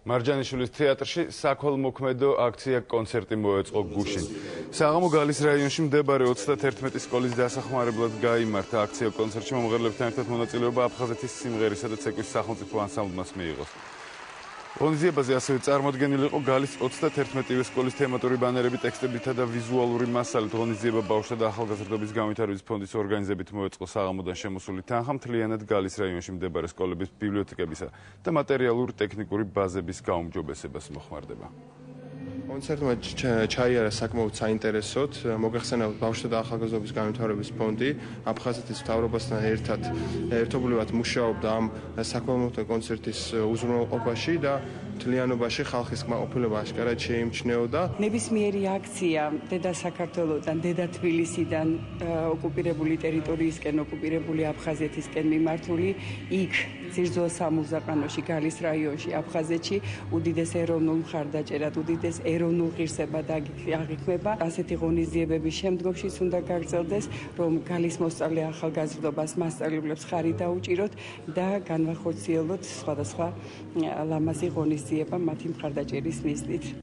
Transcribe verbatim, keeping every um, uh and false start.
მარჯანიშვილის თეატრში საქველმოქმედო აქცია კონცერტი მოეწყო გუშინ. საღამო გალის რაიონში მდებარე ოცდაათერთმეტი სკოლის დასახმარებლად გაიმართა აქცია კონცერტში მომღერლებთან ერთად მონაწილეობა აფხაზეთის სიმღერისა და ცეკვის სახელმწიფო ანსამბლმაც მიიღო. ღონისძიებაზე ასევე წარმოდგენილი იყო გალის ოცდაათერთმეტივე სკოლის თემატური ბანერები, ტექსტებითა და ვიზუალური მასალით. ღონისძიება ბავშვთა და ახალგაზრდობის განვითარების ფონდის ორგანიზებით მოეწყო საღამოდან შემოსული თანხა მთლიანად გალის რაიონში მდებარე სკოლების ბიბლიოთეკებისა და მატერიალურ-ტექნიკური ბაზების გაუმჯობესებას მოხმარდება. კონცერტმა ჩაიარა საკმაოდ საინტერესოდ, მოგახსენებთ ბავშვთა და ახალგაზრდობის განვითარების ფონდი აფხაზეთის მთავრობასთან ერთად ერთობლივად მუშაობდა ამ საქველმოქმედო კონცერტის უზრუნველყოფაში და მთლიანობაში ხალხის კმაყოფილება აშკარად შეიმჩნეოდა. ნებისმიერი აქცია დედა საქართველოსთან, დედა თბილისიდან ოკუპირებული ტერიტორიისკენ, ოკუპირებული აფხაზეთისკენ მიმართული იქ ძირძველ სამურზაყანოში, გალის რაიონში, აფხაზეთში უდიდეს ეროვნულ მხარდაჭერად, უდიდეს ეროვნულ ღირსებად აღიქმება. ასეთი ღონისძიებების შემდგომშიც უნდა გაგრძელდეს, რომ გალის მოსწავლე ახალგაზრდობას, მასწავლებლებს ხარი დაუჭიროთ და განვახორციელოთ სხვადასხვა ლამაზი ღონისძიება მათი მხარდაჭერის მიზნით.